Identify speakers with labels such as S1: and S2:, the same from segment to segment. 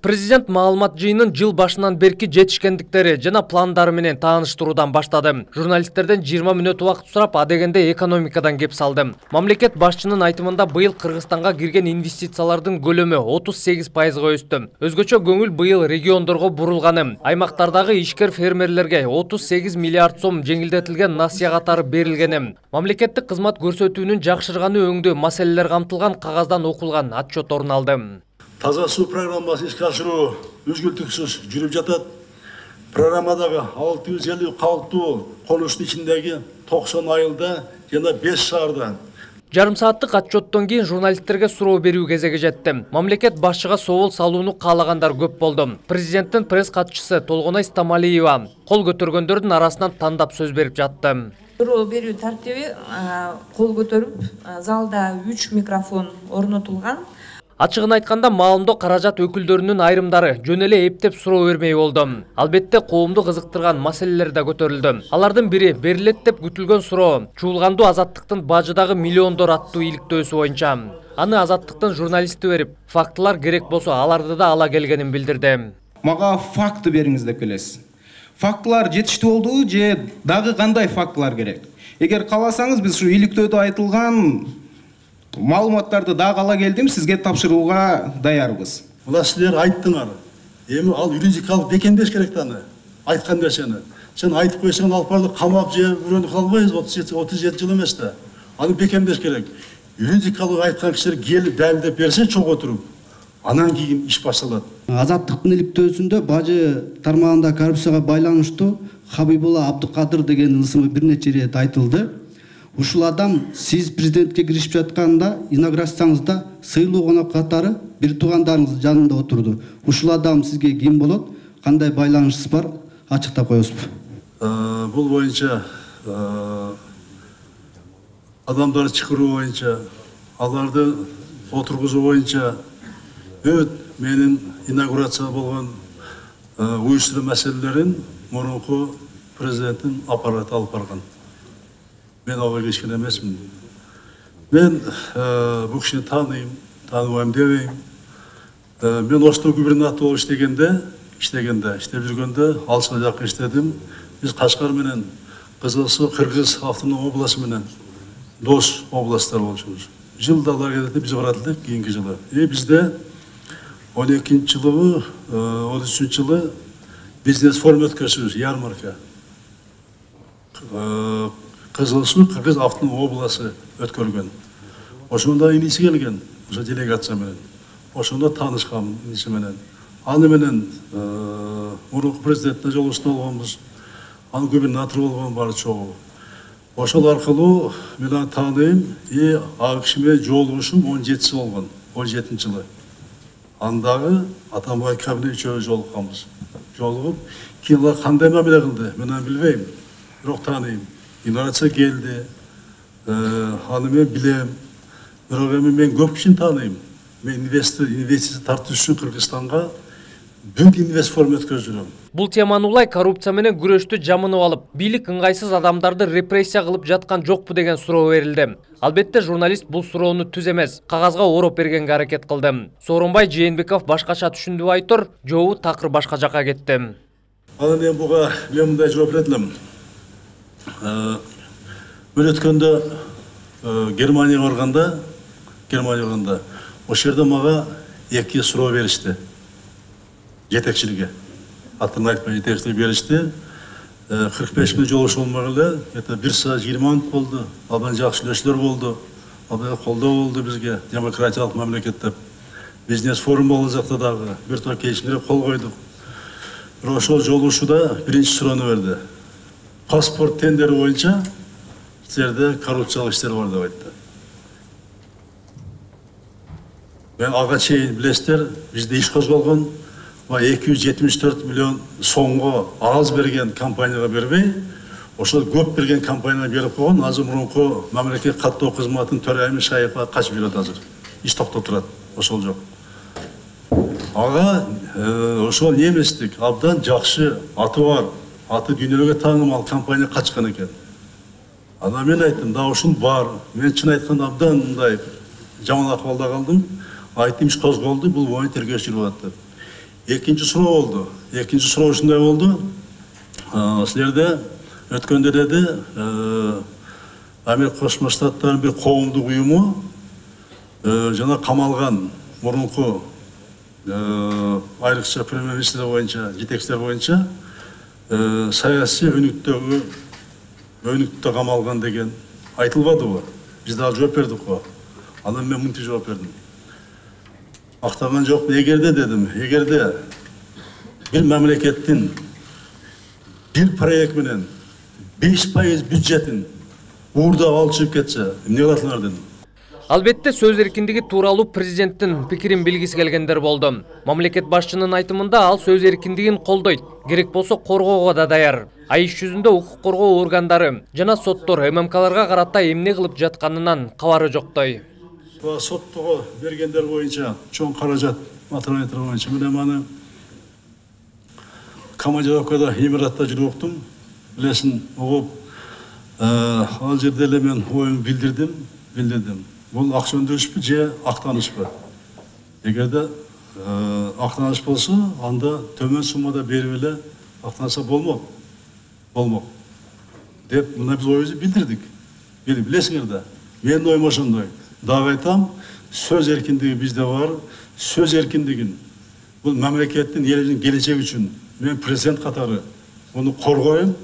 S1: Президент маалымат жыйынын жыл башынан берки жетишкендиктери жана пландары менен тааныштыруудан баштады. Журналисттерден 20 мүнөт убакыт сурап, адегенде экономикадан кеп салды. Мамлекет башчынын айтымында быйыл Кыргызстанга кирген инвестициялардын көлөмү 38%га өстү. Өзгөчө көңүл быйыл региондорго бурулганы. Аймактардагы ишкер фермерлерге 38 миллиард сом жеңилдетилген насыя катары берилгени. Мамлекеттик кызмат көрсөтүүнүн жакшырганы өңдүү маселелер камтылган кагаздан окулган отчет орун алды.
S2: Таза суу программасы ишке ашыруу үзгүлтүксүз жүрүп жатат. Программадагы 650 калктуу конуштун ичиндеги 90 айылда жана 5 шаарда.
S1: Жарым сааттык отчеттон кийин журналисттерге суроо берүү кезеги жетти. Мамлекет башчыга соол салууну каалагандар көп болду. Президенттин пресс катчысы Толгонай Стамалиева кол көтөргөндөрдүн арасынан тандап сөз берип жатты.
S3: Суроо берүү тартиби кол көтөрүп, залда 3 микрофон орнотулган.
S1: Ачыгын айтканда, маалымдоо каражат өкүлдөрүнүн айрымдары жөн эле эптеп суроо бермей болду. Албетте коомду кызыктырган маселелер да көтөрүлдү. Алардын бири берилет деп күтүлгөн суроо чуулгандуу Азаттыктын бажыдагы миллиондор аттуу иликтөөсү боюнча. Аны Азаттыктын журналисти берип, фактылар керек болсо аларды да ала келгенин билдирди.
S4: Мага факты бериңиз деп келесиз. Фактылар жетиштүү болдубу же дагы кандай фактылар керек? Эгер кааласаңыз, биз ушу иликтөөдө айтылган маалыматтарды дагы ала келдим, сизге тапшырууга даярбыз.
S2: Мына силер айттыңар. Эми ал юридикалык бекемдеш керек да аны. Айткан нерсени. Сен айтып койсоң, алып барды камап же бирөөнү кыла албайбыз, 37 жыл эмес да. Аны бекемдеш керек. Юридикалык айткан кишилер келип далилдеп берсе чогуу отуруп, анан кийин иш башталат.
S5: Азаттыктын иликтөөсүндө бажы тармагында коррупцияга байланыштуу Хабибулла Абдыкадыр деген ысымы бир нече ирет айтылды. Ушул адам сиз президентке киришип жатканда инаугурацияңызда сыйлуу конок катары бир туугандарыңыз жанында отурду. Ушул адам сизге ким болот? Кандай байланышыңыз бар? Ачыктап коесузбу?
S2: Бул боюнча адамдарды чакыруу боюнча, аларды отургузуу боюнча менин инаугурация болгон уюштуруу маселелерин мурунку президенттин аппараты алып барган. Мен ага киришкен эмесмин. Мен бул кишини тааныйм, тааныбайм дебейм. Мен Ошту губернатор болуп иштеп жүргөндө алыска жакын иштедим. Биз Кашкар менен Кызыл Суу Кыргыз автоном областы менен дос областтар болчубуз. Жылда алар келет, биз барат элек кийинки жылы. Бизде 12-жылы, 13-жылы бизнес форум өткөрүшүбүз, ярмарка. Кызыл Суу Кыргыз автоном областы өткөргөн. Ошондо иниси келген, ошо делегация менен. Ошондо таанышкан иниси менен. Аны менен мурунку президентке жолугушуу болгонбуз. Аны губернатор болгон баары чогуу. Ошол аркылуу мен аны тааныйм, ал киши менен жолугушум 17 болгон, 17-жылы. Андагы Атамбай кабинет үчөө жолукканбыз. Жолугуп, кийин кандай мамиле кылды, мен аны билбейм, бирок тааныйм. Инаугурация келди, аны мен билем, бирок эми мен көп кишини тааныйм. Мен инвестиция тартуу үчүн Кыргызстанга бүт инвест форум өткөрүп.
S1: Бул теманы улай коррупция менен күрөштү жамынып алып, бийлик ыңгайсыз адамдарды репрессия кылып жаткан жокпу деген суроо берилди. Албетте журналист бул суроону түз эмес, кагазга ороп бергенге аракет кылды. Сооронбай Жээнбеков башкача түшүндү айтор, жообу такыр башка жака кетти.
S2: Анан мен буга мындай жооп берет элем. Мен өткөндө Германияга барганда, ошол жерде мага 2 суроо беришти. Жетекчиликке. Атын айтпай жетекчилик беришти. 45 мүнөт жолугуш болмок эле, 1 саат 20 мүнөт болду. Абдан жакшы сүйлөшүүлөр болду. Абдан колдоо болду бизге, демократиялык мамлекет деп. Бизнес форум болду жакта дагы, бир топ келишимдерге кол койдук. Бирок ошол жолугушууда биринчи суроону берди. Паспорт тендери боюнча силерде коррупциялык иштер бар деп айтты. Мен ага чейин билесиздер, бизде иш козголгон 274 миллион сомго аз берген компанияга бербей, ошол көп берген компанияга берип койгон. Азыр мурунку мамлекет каттоо кызматынын төрайымы Шаевга качып жүрөт азыр. Иш токтоп турат, ошол жок. Ага ошол неместик, абдан жакшы аты бар, аты дүйнөгө таанымал компания качкан экен. Ана мен айттым, да ушун бар. Мен чын айтканда абдан мындай жаман акыбалда калдым. Айттым, иш козголду, бул боюнча тергөө жүрүп атат. Экинчи суроо болду. Экинчи суроо ушундай болду. Силерде өткөндө деди Америка Кошмо Штаттарынын бир коомдук уюму жана камалган мурунку айрыкча премьер-министр боюнча, жетекчилер боюнча саясий өнүктө камалган деген айтылбадыбы? Биз дагы жооп бердик го. Анан мен мынтип жооп бердим. Актаган жокмун. Эгерде дедим, эгерде бир мамлекеттин бир проект менен 5% бюджетин уурдап алып чыгып кетсе, эмне кыласыңар дедим.
S1: Албетте сөз эркиндиги тууралуу президенттин пикирин билгиси келгендер болду. Мамлекет башчынын айтымында ал сөз эркиндигин колдойт, керек болсо коргоого да даяр. А иш жүзүндө укук коргоо органдары жана соттор ММКларга карата эмне кылып жатканынан кабары жоктой.
S2: Соттого бергендер боюнча чоң каражат материалдар боюнча мен маны командировкада Эмиратта жүрүп уктум. Билесиң, угуп ал жерде эле мен оюмду билдирдим. Бул акча өндүрүшпү же актанышпы? Эгерде актаныш болсо, анда төмөн суммада берип эле актанса болмок. Деп мына биз оюбузду билдирдик. Билесиңер да. Менин оюм ошондой. Дагы айтам, сөз эркиндиги бизде бар. Сөз эркиндигин бул мамлекеттин, элибиздин келечеги үчүн мен президент катары муну коргойм.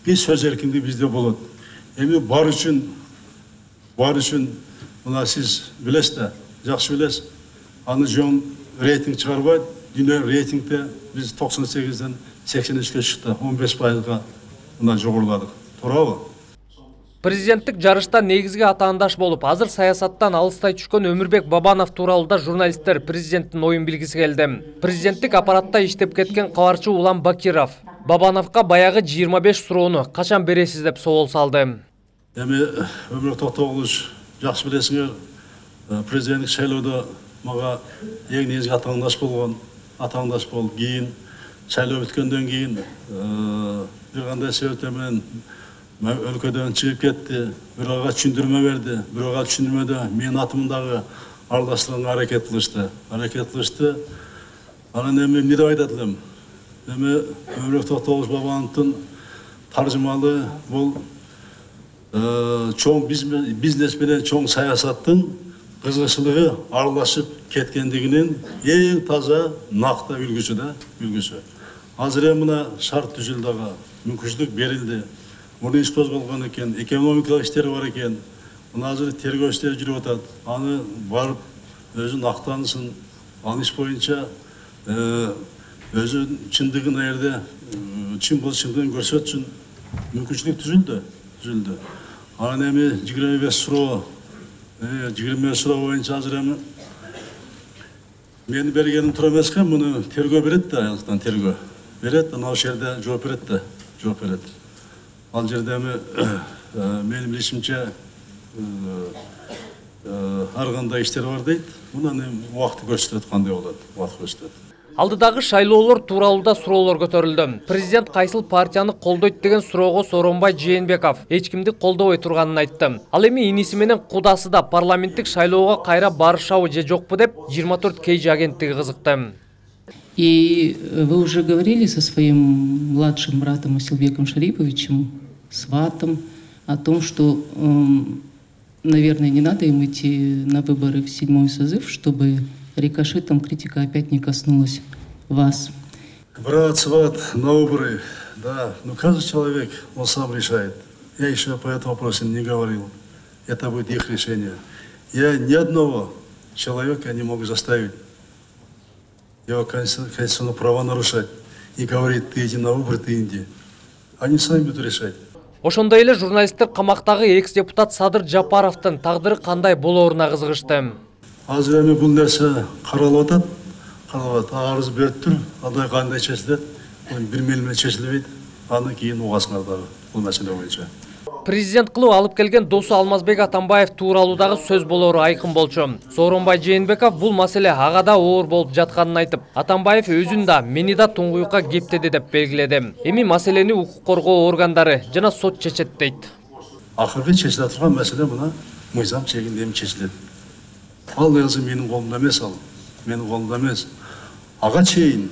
S2: Биз сөз эркиндиги бизде болот. Эми бар үчүн мына сиз билесиз да, жакшы билесиз. Аны жөн рейтинг чыгарбайт. Дүйнө рейтингде биз 98ден 83ке чыкты, 15%га мына жогоруладык. Туурабы?
S1: Президенттик жарышта негизги атаандаш болуп, азыр саясаттан алыстай түшкөн Өмүрбек Бабанов тууралуу да журналисттер президенттин оюн билгиси келди. Президенттик аппаратта иштеп кеткен кабарчы Улан Бакиров Бабановго баягы 25 суроону качан бересиз деп собол салды.
S2: Эми Өмүрбек Токтогулович, жакшы билесиңер, президенттик шайлоодо мага эң негизги атаандаш болуп, кийин шайлоо бүткөндөн кийин бир кандай себептер менен өлкөдөн чыгып кетти, бирөөгө түшүндүрмө берди, бирөөгө түшүндүрмөдө менин атымдагы аралаштырганга аракет кылышты. Анан эми эмне деп айтат элем? Эми Өмүрбек Токтогулович Бабановдун таржымалы бул чоң бизнес менен чоң саясаттын кызыкчылыгы аралашып кеткендигинин эң таза накта үлгүсү. Азыр эми мына шарт түзүлдү, мүмкүнчүлүк берилди. Муну иш козголгон экен, экономикалык иштер бар экен. Мына азыр тергөө иштери жүрүп атат. Аны барып өзүн актанысын, ал иш боюнча өзүнүн чындыгын аерде чын болуп чындыгын көрсөтсүн. Мүмкүнчүлүк түзүлдү. Анан эми 25 суроо боюнча азыр эми менин бергеним туура эмеске, муну тергөө берет да, аяктан тергөө берет, анан ошол жерде жооп берет. Ал жерде эми менин билишимче ар кандай иштер бар дейт. Мунун эми убакыты көрсөтөт, кандай болот, убакыт көрсөтөт.
S1: Алдыдагы шайлоолор тууралуу да суроолор көтөрүлдү. Президент кайсыл партияны колдойт деген суроого Сооронбай Жээнбеков эч кимди колдобой турганын айтты. Ал эми иниси менен кудасы да парламенттик шайлоого кайра барышабы же жокпу деп 24 KG агенттиги кызыкты.
S6: И вы уже говорили со своим младшим братом Асилбеком Шариповичем, сватом, о том, что, наверное, не надо им идти на выборы в 7-й созыв, чтобы рикошетом критика опять не коснулась вас.
S2: Брат, сват, на выборы, да, но каждый человек, он сам решает. Я еще по этому вопросу не говорил. Это будет их решение. Я ни одного человека не могу заставить его конституционные права нарушать и говорить, ты иди на выборы, ты иди. Они сами будут решать.
S1: Ошондой эле журналисттер камактагы экс-депутат Садыр Жапаровдун тагдыры кандай болооруна кызыгышты.
S2: Азыр эми бул нерсе каралып атат. Арыз берип тур, андай кандай чечилет, бир мел менен чечилбейт. Андан кийин угасыңар дагы бул маселе боюнча.
S1: Президент кылып алып келген досу Алмазбек Атамбаев тууралуудагы сөз болоору айкын болчу. Сооронбай Жээнбеков бул маселе ага да оор болуп жатканын айтып, Атамбаев өзүн да мени да туңгуюкка кептеди деп белгиледи. Эми маселени укук коргоо органдары жана сот чечет дейт.
S2: Акыркы чечиле турган маселе мына мыйзам чегинде эми чечилет. Ал өзү менин колумда эмес, Ага чейин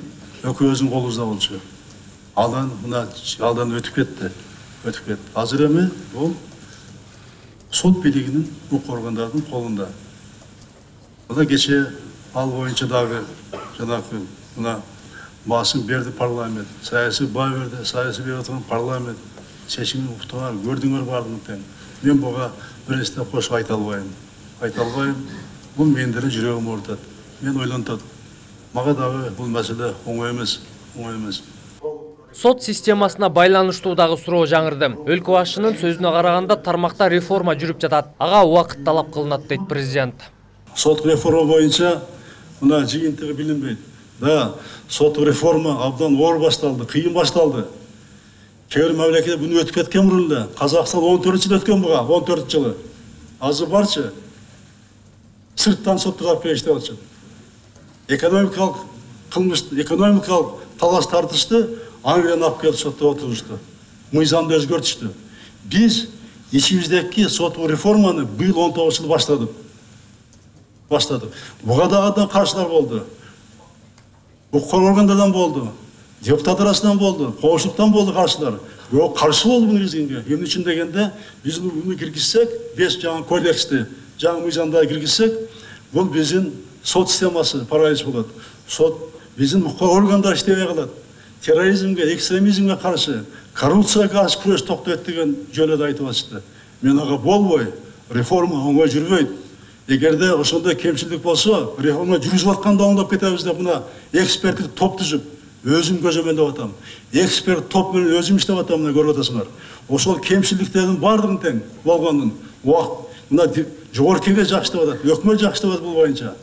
S2: экөөбүздүн колубузда болчу. Алдан өтүп кетти. Азыр эми бул сот бийлигинин, укук органдардын колунда. Мына кече ал боюнча дагы жанагы мына басым берди парламент, саясий баа берди, саясий берип аткан парламент чечимин уктуңар, көрдүңөр бардыгын тең. Мен буга бир нерсе кошуп айта албайм. Бул мендердин жүрөгүм оорутат. Мен ойлонтот. Мага дагы бул маселе оңой эмес.
S1: Сот системасына байланыштуу дагы суроо жаңырды. Өлкө башчынын сөзүнө караганда тармакта реформа жүрүп жатат. Ага убакыт талап кылынат дейт президент.
S2: Сот реформа боюнча мына жыйынтыгы билинбейт. Да, сот реформа абдан оор башталды, кыйын башталды. Кээ бир мамлекетте буну өтүп кеткен мурун эле. Казакстан 14 жыл өткөн буга, 14 жылы. Азыр барчы сырттан соттор алып келишти болчу. Экономикалык талаш тартышты Англиядан алып келип сотто отурушту. Мыйзамды өзгөртүштү. Биз ичибиздеги соттук реформаны быйыл 19 жыл баштадык. Буга дагы каршылар болду. Укук органдардан болду, депутат арасынан болду, коомчулуктан болду каршылар. Бирок каршы болду буну киргизгенге. Эмне үчүн дегенде, биз буну киргизсек, 5 жаңы кодексти, жаңы мыйзамдарды киргизсек, бул биздин сот системасы паралич болот. Сот биздин укук органдар иштебей калат. Терроризмге, экстремизмге каршы, коррупцияга каршы күрөш токтойт деген жөнөдө айтып атышты. Мен ага болбой, реформа оңой жүрбөйт. Эгерде ошондой кемчилик болсо, реформа жүрүзүп атканда оңдоп кетебиз деп мына эксперттик топ түзүп, өзүм көзөмөлдөп атам. Эксперт топ менен өзүм иштеп атам, мына көрүп атасыңар. Ошол кемчиликтердин бардыгын тең болгондун убакыт мына жогорку кеңеш жакшы деп атат, өкмөт жакшы деп атат бул боюнча.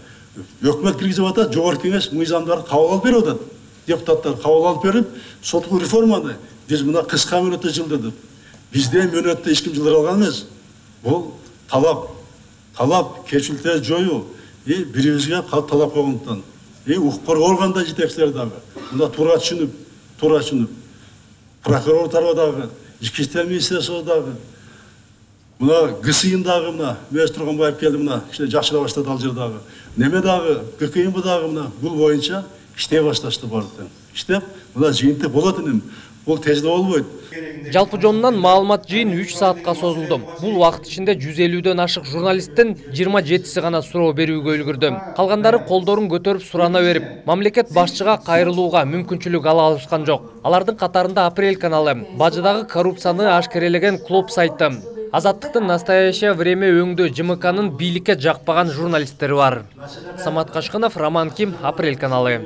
S2: Өкмөт киргизип атат, жогорку кеңеш мыйзамдарды кабыл алып берип атат. Депутаттар кабыл алып берип, соттук реформаны биз мына кыска мөөнөттө жылдырдык. Бизде мөөнөттө эч ким жылдыра алган эмес. Бул талап кечиликтерди жоюу, бирибизге талап койгондуктан. Укук органдар жетекчилери дагы мына туура түшүнүп, прокурор тарабы дагы, ички иштер министрлиги дагы, мына ГСИН дагы мына Мөз Тургунбаев келди мына жакшыра баштады ал жер дагы. Неме дагы ГКМ дагы мына бул боюнча иштей башташты бардык. Иштеп, мына жыйынтык болот энем. Бул тезде болбойт.
S1: Жалпы жонунан маалымат жыйын 3 саатка созулду. Бул убакыт ичинде 150дөн ашык журналисттин 27си гана суроо берүүгө үлгүрдү. Калгандары колдорун көтөрүп сурана берип, мамлекет башчыга кайрылууга мүмкүнчүлүк ала алышкан жок. Алардын катарында Апрель каналы, бажыдагы коррупцияны ашкерелеген клуб сайты, Азаттыктын настоящее время өңдө ЖМКнын бийликке жакпаган журналисттери бар. Самат Кашкынов, Роман Ким, Апрель каналы.